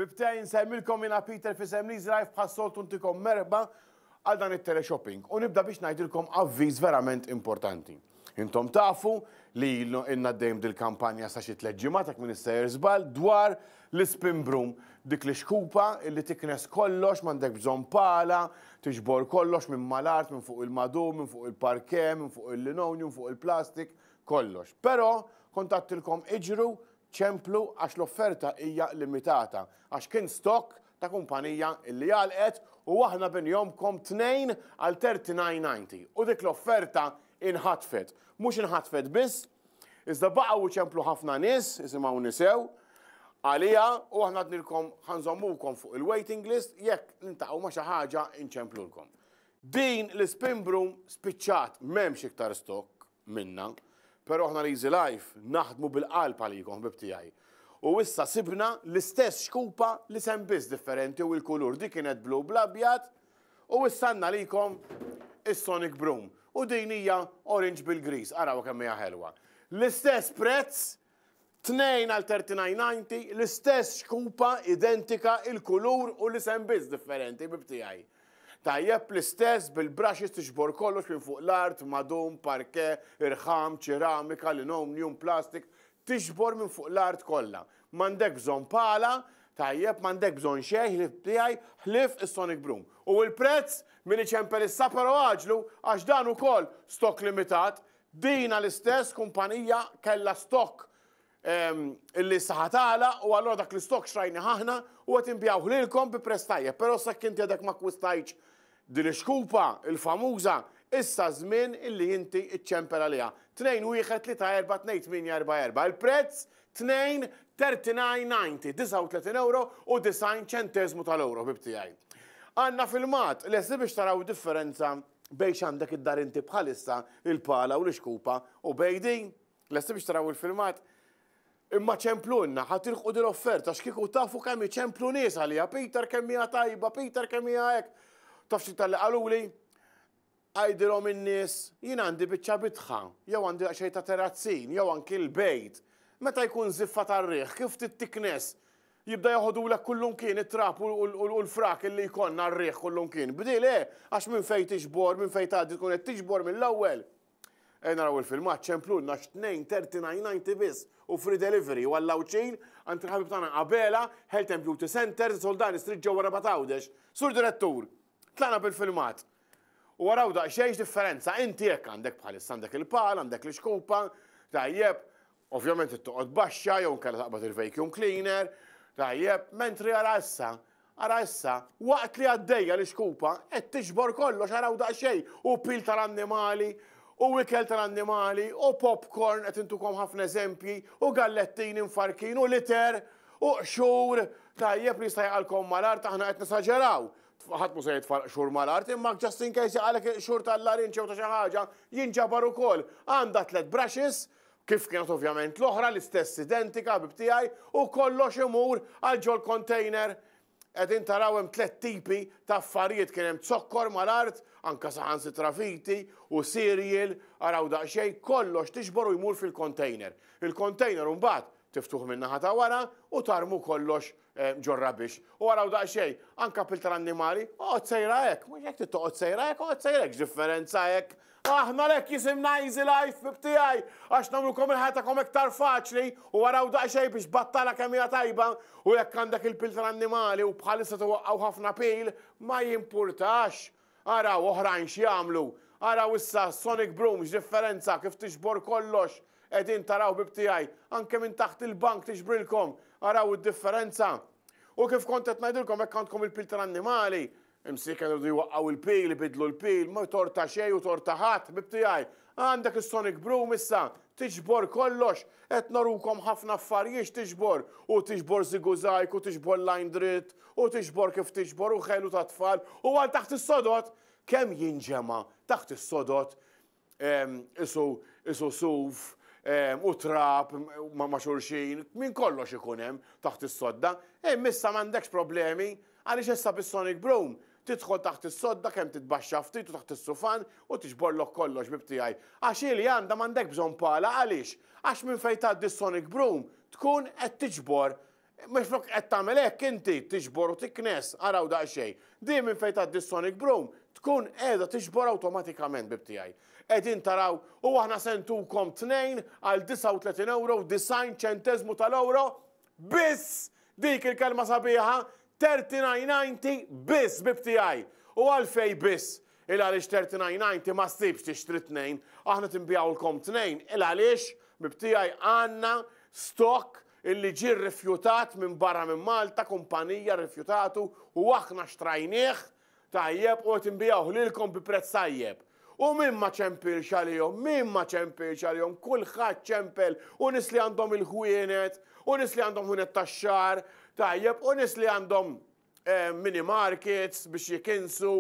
Ħbieb tiegħi nsellmilkom jiena Peter f'isem l-Easy Life bħas-soltu ntikom merħba għal dan it-teleshopping u nibda biex ngħidilkom avviż verament importanti. Intom tafu li ilna għaddejjin dil-kampanja sa xi tlett ġimgħat jekk m'iniex sejjer żball dwar l-ispin broom, dik l-ixkupa illi tiknes kollox m'għandek bżonn pala, tiġbor kollox minn mal-art, minn fuq il-madum, minn fuq il-parquet, minn fuq il-linoleum, fuq il-plastik, kollox. Però kont għadtilkom iġru Ċemplu għax l-offerta hija limitata għax kien stock ta' kumpanija illi għalqet u aħna binjomkom tnejn għal 39.90 u dik l-offerta inħatfet. Mhux inħatfet biss, iżda baqgħu iċemplu ħafna nies, isimgħuni sew, għaliha u aħna għadnilkom ħa nżommukom fuq il-waiting list jekk niltaqgħu ma' xi ħaġa inċemplulkom. Din l-ispin broom spiċċat m'hemmx iktar stock. minna. Però aħna l-Easy Life naħdmu bil-qalb għalikom ħbieb tiegħi. U issa sibna l-istess xkupa l-isem biss differenti u l-kulur. Dik kienet blu bl-abjad u issa għandna għalikom is-Sonic Broom. U din hija orange bil-griż, araw kemm hija ħelwa. L-istess prezz, Tnejn għal 39.90, l-istess xkupa, identika, il-kulur u l-isem biss differenti, ħbieb tiegħi. Tajjeb, l-istess bil-brushes tiġbor kollox minn fuq l-art, madum, parquet, irħam, ċeramika, linoleum, plastik, tiġbor minn fuq l-art kollha. M'għandek bżonn pala, tajjeb, m'għandek bżonn xejn ħlief tiegħi, ħlief is-Sonic Broom. U l-prezz min iċempel issa però għaġlu għax dan ukoll stock limitat, Dina l-istess kumpanija kellha stock illi issa ħa tagħlaq u allura dak l-istock xtrajnih aħna u qed inbigħuh lilkom bi prezz tajjeb. Però sakemm inti għadek ma akkwistajtx din ix-xkupa, il-famuża, issa ż-żmien illi inti iċċempel għaliha. 2 1 3 4 2 8 4 4. Il-prezz 2 39.90, 39 ewro u 90 ċenteżmu tal-ewro, ħbieb tiegħi. Għandna filmat, lesti biex taraw differenza Bejn x'għandek id-dar inti bħalissa, il-pala u l-ixkupa, u bejn din? Lesti biex taraw il-filmat? Imma ċemplulna, ħa tilħqu din l-offerta, għax kieku tafu kemm iċemplu nies għaliha, Peter kemm hija tajba, Peter kemm hija hekk. Taf xi talli qaluli? Għidilhom in-nies, jien għandi biċċa bitħa, jew għandi daqsxejn ta' terazzin, jew anki l-bejt. Meta jkun żiffa tar-riħ, kif tittiknes Jibda joħodulek kullumkien it-trab u l-frak illi jkollna r-riħ kullumkien. Bdil eh, għax minn fejn tiġbor, minn fejn tgħaddi tkun qed tiġbor mill-ewwel. Ejja naraw il-filmat, ċemplulna għax 2:39.90 biss u free delivery u għall-Għawdxin għand il-ħabib tagħna Abela, Health and Beauty Centre, Soldani Street ġewwa Rabat Għawdex. Sur Direttur, tlaqna bil-filmat. U araw daqsxejn x'differenza, inti hekk għandek bħalissa għandek il-pal, għandek l-ixkupa, tajjeb, Ovvjament trid toqgħod baxxa jew inkella taqbad il-vacuum cleaner, tajjeb, mentri ara issa, ara issa, waqt li għaddejja l-ixkupa qed tiġbor kollox araw daqsxejn u pil tal-annimali u ikel tal-annimali u popcorn qed intukom ħafna eżempji u gallettini mfarkin u litter u qxur tajjeb li jista' jaqalkom mal-art aħna qed nesaġeraw. Ħadd mhu se jitfa' l-qxur mal-art imma just in case jaqalek il-qxur tal-larinġ jew ta' xi ħaġa jinġabar ukoll. Għandha tliet brushes Kif kienet ovvjament l-oħra, l-istess identika, ħbib tiegħi, u kollox imur għal ġol-container. Qegħdin taraw hemm tlett tipi ta' affarijiet, kien hemm zokkor mal-art, anke saħansitra viti u cereal, araw daqsxejn, kollox tiġbor u jmur fil-container. Il-container imbagħad tiftuh min-naħa ta' wara u tarmu kollox ġor-rubbish. U araw daqsxejn, anke pil tal-annimali, oqgħod sejra hekk, mhux hekk trid toqgħod sejra hekk, oqgħod sejra hekk, x'differenza hekk. Aħna għalhekk jisimna Easy Life, ħbieb tiegħi, għax nagħmlulkom il-ħajja tagħkom iktar faċli u araw daqsxejn biex battala kemm hija tajba u jekk għandek il-pil tal-annimali u bħalissa twaqqgħu ħafna pil, ma jimpurtax. Araw oħrajn x'jagħmlu. Araw issa Sonic Broom x'differenza kif tiġbor kollox. Qegħdin taraw ħbieb tiegħi, anke minn taħt il-bank tiġbrilkom. Araw id-differenza. U kif kont qed ngħidilkom hekk għandkom il-pil tal-annimali, imsieken iridu jwaqqgħu il-pil, ibiddlu l-pil, ma torta xejn u torta ħadd, ħbieb tiegħi. Għandek is-Sonic Broom issa, tiġbor kollox, qed norukom ħafna affarijiet x'tiġbor, u tiġbor żigużajk u tiġbor line dritt, u tiġbor kif tiġbor u ħelu tat-tfal, u għal taħt is-sodod, kemm jinġema' taħt is-sodod isu isu suf u trab ma' xulxin, minn kollox ikun hemm taħt is-sodda. Imma issa m'għandekx problemi għaliex issa bis-Sonic Broom tidħol taħt is-sodda kemm titbaxxa ftit u taħt is-sufan u tiġborlok kollox ħbieb tiegħi. Għax hi li għandha m'għandek bżonn pala għaliex? Għax minn fejn tgħaddi s-Sonic Broom tkun qed tiġbor. Mhux flok qed tagħmel hekk inti tiġbor u tiknes, araw daqsxejn. Din minn fejn tgħaddi s-sonic broom tkun qiegħda tiġbor awtomatikament ħbieb tiegħi. Qegħdin taraw u aħna se ntukom tnejn għal 39 ewro u 90 ċenteżmu tal-ewro biss! Dik il-kelma sabiħa, 39.90 biss ħbieb tiegħi. U għalfejn biss? Il għaliex 39.90 ma ssibx tixtri tnejn, aħna tinbigħulkom tnejn, il għaliex ħbieb tiegħi għandna stock illi ġie rrifjutat minn barra minn Malta, kumpanija rrifjutatu u aħna xtrajnieh tajjeb u qed inbigħuh lilkom bi prezz tajjeb. U min ma ċempilx għalihom, min ma ċempilx għalihom, kulħadd ċempel u nies li għandhom il-ħwienet, u nies li għandhom ħwienet tax-xagħar, tajjeb, u nies li għandhom eh, mini markets biex jikinsu,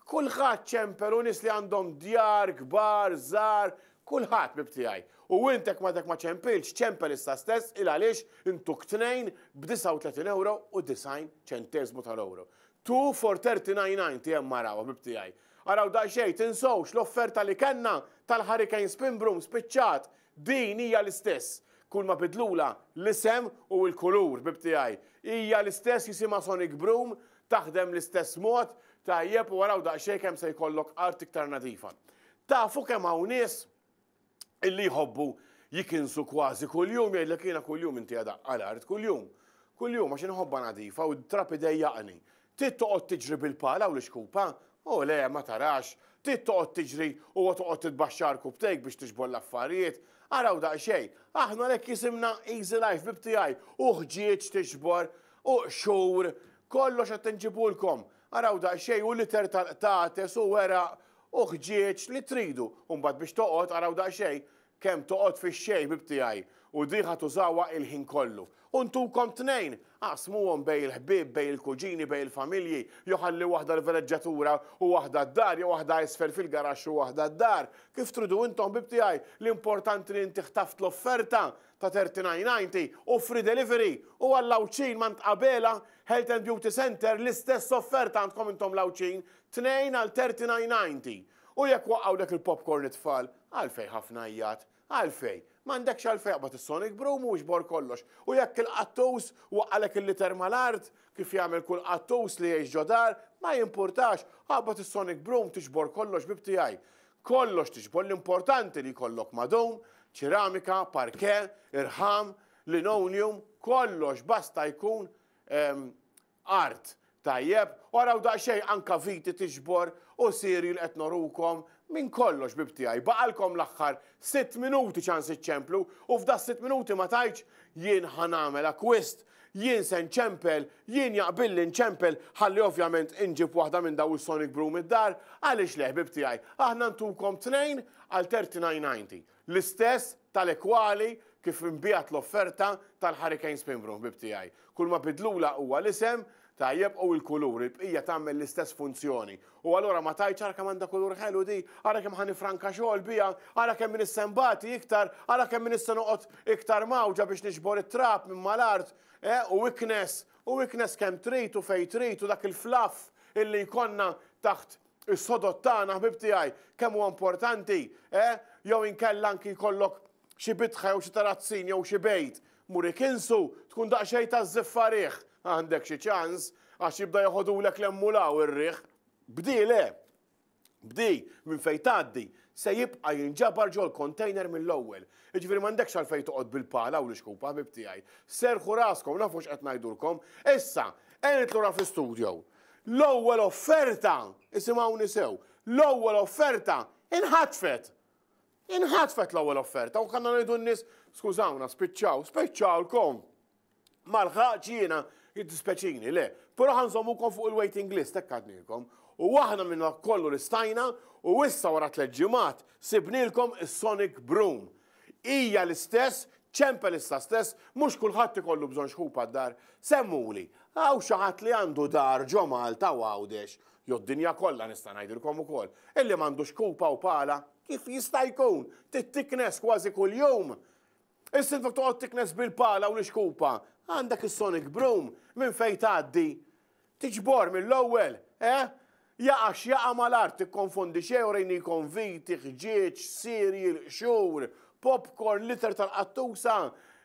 kulħadd ċempel u nies li għandhom djar kbar, żgħar, kulħadd ħbieb tiegħi. U intek ma dak ma ċempilx, ċempel issa stess il għaliex intuk tnejn b'39 euro u 90 ċentesmu tal-euro. 2 for 39.90 hemm araw ħbieb tiegħi. Araw daqsxejn, tinsewx l-offerta li kellna tal-Hurricane Spin Broom spiċċat. Din hija l-istess. Kull ma bidlula l-isem u l-kulur, ħbieb tiegħi. Hija l-istess jisimha Sonic Broom, taħdem l-istess mod, tajjeb u araw daqsxejn kemm se jkollok art iktar nadifa. Tafu kemm hawn nies illi jħobbu jikinsu kważi kuljum, jgħidlek jiena kuljum inti għadaqqa l-art, kuljum. Kuljum għax inħobbha nadifa u t-trab idejjaqni. Trid toqgħod tiġri bil-pala u l-ixkupa? O le, ma tarax. Trid toqgħod tiġri u toqgħod titbaxxa rkubtejk biex tiġbor l-affarijiet. Araw daqsxejn. Aħna għalhekk jisimna Easy Life ħbieb tiegħi. U ħġieġ tiġbor, u qxur, kollox qed inġibulkom. Araw daqsxejn u liter tal-qtates u weraq u ħġieġ li tridu. U mbagħad biex toqgħod araw daqsxejn kemm toqgħod fix-xejn ħbieb tiegħi u di ħa tużawha il-ħin kollu. U ntukom tnejn, aqsmuhom bejn il-ħbieb, bejn il-kuġini, bejn il-familji, jew ħalli waħda l-veleġġatura u waħda d-dar, jew waħda isfel fil-garaxx u waħda d-dar. Kif tridu intom ħbieb tiegħi, l-importanti li inti ħtaft l-offerta ta' 39.90 u free delivery u għall-Għawdxin m'għand Abela Health and Beauty Centre l-istess offerta għandkom intom l-Għawdxin, tnejn għal 39.90. U jekk waqgħulek il-popcorn it-tfal, għalfejn ħafna għajjat? Għalfejn? M'għandekx għalfejn aqbad is-sonic broom u iġbor kollox. U jekk il-qattus waqgħalek il-liter mal-art, kif jagħmel kull qattus li jgħix ġo dar, ma jimpurtax, aqbad is-sonic broom tiġbor kollox ħbieb tiegħi. Kollox tiġbor, l-importanti li jkollok madum, ċeramika, parquet, irħam, linoleum, kollox basta jkun art. Tajjeb, u araw daqsxejn anka viti tiġbor u cereal qed norukom minn kollox ħbieb tiegħi. Baqalkom l-aħħar sitt minuti ċans iċċemplu u f'da sitt minuti ma tgħidx jien ħa nagħmel akkwist, jien se nċempel, jien jaqbilli nċempel ħalli ovvjament inġib waħda minn daw is-Sonic Broom id-dar, għaliex le ħbieb tiegħi. Aħna ntukom tnejn għal 39.90. L-istess tal-ekwali kif inbiegħet l-offerta tal-Hurricane Spin Broom, ħbieb tiegħi. Kull ma bidlulha huwa l-isem, tajjeb, u l-kulur, il-bqija tagħmel l-istess funzjoni. U allura ma tgħidx ara kemm għandha kulur ħelu di, ara kemm ħa nifranka xogħol biha, ara kemm min issa nbati iktar, ara kemm min issa noqgħod iktar mgħawġa biex niġbor it-trab minn mal-art, eh, u iknes, u iknes kemm trid u fejn trid u dak il-fluff illi jkollna taħt Is-sodod tagħna, ħbieb tiegħi, kemm huwa importanti, eh? Jew inkella anki jkollok xi bitħa jew xi tarazzin jew xi bejt, mur ikinsu, tkun daqsxejn ta' żiffa riħ. Għandek xi ċans għax jibda joħodulek 'l hemm u 'l hawn ir-riħ. Bdi le. Bdi minn fejn tgħaddi se jibqa' jinġabar ġol-container mill-ewwel. Jiġifieri m'għandekx għalfejn toqgħod bil-pala u l-ixkupa, ħbieb tiegħi. Serrħu raskom, nafu x'qed ngħidulkom. Issa, ejja nidħlu lura fl-istudio. L-ewwel offerta, isimgħuni sew, l-ewwel offerta inħatfet. Inħatfet l-ewwel offerta u kanna ngħidu n-nies, skużawna, spiċċaw, spiċċawlkom. Ma lħaqx jiena jiddispeċini, le. Però ħa nżommukom fuq il-waiting list, hekk għadnilkom. U aħna minna kollu li stajna u issa wara tliet ġimgħat sibnilkom is-Sonic Broom. Hija l-istess, ċempel issa stess, mhux kulħadd ikollu bżonn xħupa d-dar. Semmuli, hawn xi ħadd li għandu dar ġo Malta u Għawdex, jew d-dinja kollha nista' ngħidilkom ukoll, illi m'għandux kupa u pala? Kif jista' jkun? Trid tiknes kważi kuljum. Issa inti toqgħod tiknes bil-pala u l-ixkupa, għandek is-sonic broom minn fejn tgħaddi. Tiġbor mill-ewwel, eh? Jaqa' x'jaqa' mal-art, tikkonfondi xejn urejnikom viti, ħġieġ, cereal, qxur, popcorn, litter tal-qattusa.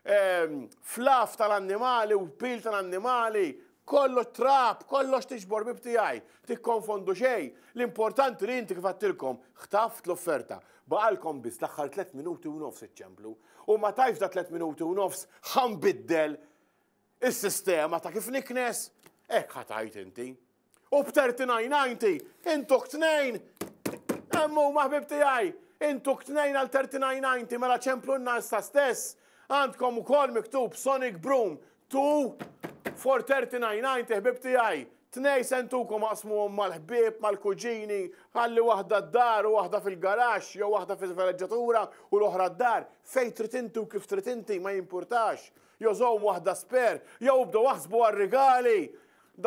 Fluff tal-annimali u pil tal-annimali, kollox trab, kollox tiġbor ħbieb tiegħi, tikkonfondu xejn. L-importanti li inti kif għedtilkom, ħtaft l-offerta. Baqalkom biss l-aħħar 3 minuti u nofs iċċemplu. U ma tajx da 3 minuti u nofs ħa nbiddel is-sistema ta' kif niknes, hekk ħa tgħid inti. U b'39.90 intuk tnejn. Hemm huma ħbieb tiegħi, intuk tnejn għal 39.90 mela ċemplunna issa stess. Għandkom ukoll miktub Sonic Broom 2 for 39.90 ħbieb tiegħi. Tnej se ntukom aqsmuhom mal-ħbieb, mal-kuġini, ħalli waħda d-dar u waħda fil-garaxx jew waħda fil-veleġġatura u l-oħra d-dar. Fejn trid inti u kif trid inti ma jimpurtax. Jew żomm waħda spare, jew ibdew aħsbu għar-rigali.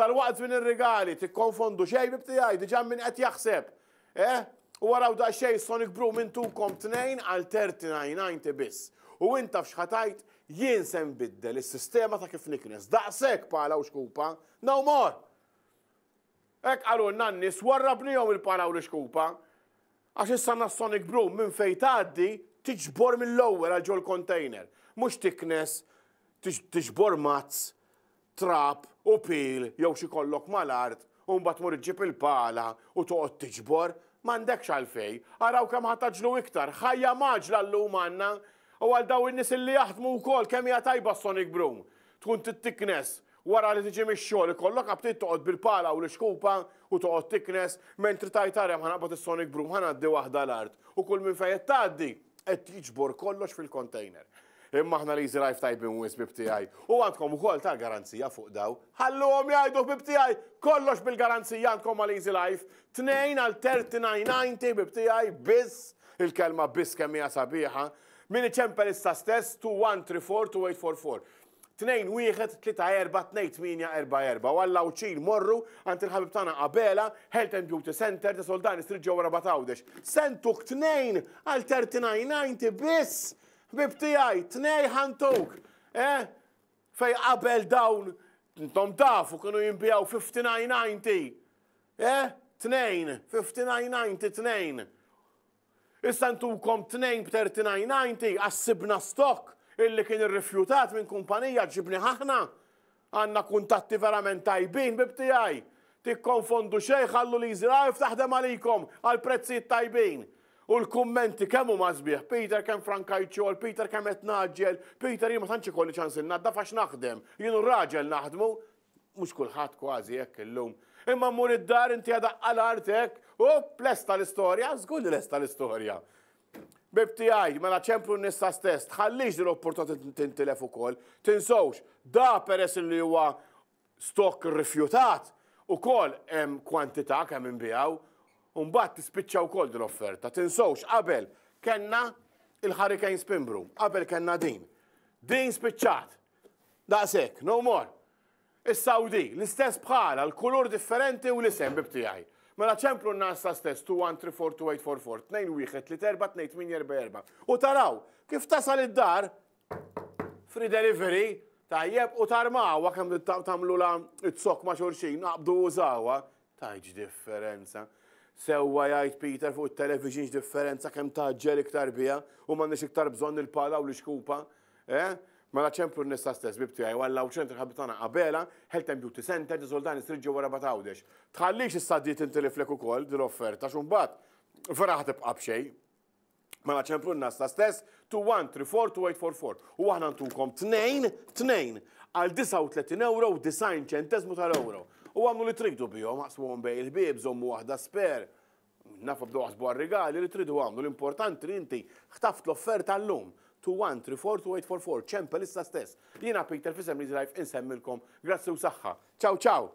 Dalwaqt żmien ir-rigali, tikkonfondu xejn ħbieb tiegħi, diġà min qed jaħseb. Eh? U araw daqsxejn Sonic Broom intukom tnejn għal 39.90 biss. U int taf x'ħa tgħid? Jien se nbiddel is-sistema ta' kif niknes. Daqshekk pala u xkupa. No more! Hekk qalulna n-nies warrabnihom il-pala u l-ixkupa. Għax issa għandna Sonic Broom minn fejn tgħaddi tiġbor mill-ewwel għal ġol-container. Mhux tiknes, tiġbor mazz, trab u pil jew xi kollok mal-art u mbagħad tmur iġġib il-pala u toqgħod tiġbor. M'għandekx għalfejn. Araw kemm ħa tgħaġġlu iktar. Ħajja mgħaġġla llum għandna. U għal dawn in-nies illi jaħdmu wkoll kemm hija tajba s-Sonic Broom. Tkun trid tiknes wara li tiġi mix-xogħol ikollok aptit toqgħod bil-pala u l-ixkupa u toqgħod tiknes mentri tgħid ara hemm ħa naqbad is-Sonic Broom ħa ngħaddi waħda l-art u kull minn fejn qed tgħaddi qed jiġbor kollox fil-container. Imma aħna l-Easy Life tajbin wisq ħbieb tiegħi. U għandkom ukoll tal-garanzija fuq daw. Ħalluhom jgħidu ħbieb tiegħi, kollox bil-garanzija għandkom mal-Easy Life. Tnejn għal 39.90 ħbieb tiegħi biss, il-kelma biss kemm hija sabiħa. Min iċempel issa stess 2134 2844. 2 1 3 4 2 8 4 4. U għall Għawdxin morru għand il-ħabib tagħna Abela, Health and Beauty Center, ta' Soldani Street ġewwa Rabat Għawdex. Sentuk tnejn għal 39.90 biss! Ħbieb tiegħi, tnej ħa ntuk! Eh? Fej qabel dawn, intom tafu kienu jinbiegħu 59.90. Eh? Tnejn, 59.90 tnejn. Issa ntukom tnejn b'39.90 għax sibna stock illi kien irrifjutat minn kumpanija ġibnih aħna. Għandna kuntatti verament tajbin ħbieb tiegħi. Tikkonfondu xejn ħallu l-Easy Life taħdem għalikom għal prezzijiet tajbin. U l-kummenti kemm huma sbieħ, Peter kemm frankajt xogħol, Peter kemm qed ngħaġġel, Peter jien ma tantx ikolli ċans innaddaf għax naħdem, jien u r-raġel naħdmu. Mhux kulħadd kważi hekk illum. Imma mmur id-dar inti daqqa l-art hekk, u lesta l-istorja, żgur li lesta l-istorja. Ħbieb tiegħi, mela ċemplu n-nisa stess, tħallix din l-opportunità tintilef ukoll. Tinsewx, da peress li huwa stock rifjutat, ukoll hemm kwantità kemm inbiegħu, u mbagħad tispiċċa wkoll din l-offerta. Tinsewx, qabel kellna il-Hurricane Spin Broom, qabel kellna din. Din spiċċat. Daqshekk, no more. Is-Saudi, l-istess bħala, l-kulur differenti u l-isem ħbieb tiegħi. Mela ċemplu n-nasa stess 21342844, 2134 U taraw, kif tasal id-dar, free delivery, tajjeb, u tarmawha kemm tagħmlu la it-sok ma' xulxin, naqbdu użawha, tgħidx differenza. Sewwa jgħid Peter fuq it-television x'differenza kemm tgħaġġel iktar biha u m'għandniex iktar bżonn il-pala u l-ixkupa. Eh? Mela ċemplu n-nisa stess ħbieb tiegħi u għall ċentru ħabib tagħna Abela, Health and Beauty Center, De Soldani Street ġewwa Rabat Għawdex. Tħallix issa di tintiliflek ukoll din l-offerta x'umbagħad vera ħa tibqa' b'xejn. Mela ċemplu n-nasa stess 21342844 u aħna ntukom tnejn tnejn għal 39 euro u 90 ċentesmu tal-euro. U għamlu li tridu bihom, aqsmuhom bejn il-ħbieb, żommu waħda spare. Nafu bdew jaħsbu għar-rigali li tridu għamlu. L-importanti li inti ħtaft l-offerta llum. 21342844, ċempel issa stess. Jiena Peter f'isem Easy Life insemmilkom. Grazzi u saħħa. Ciao ciao!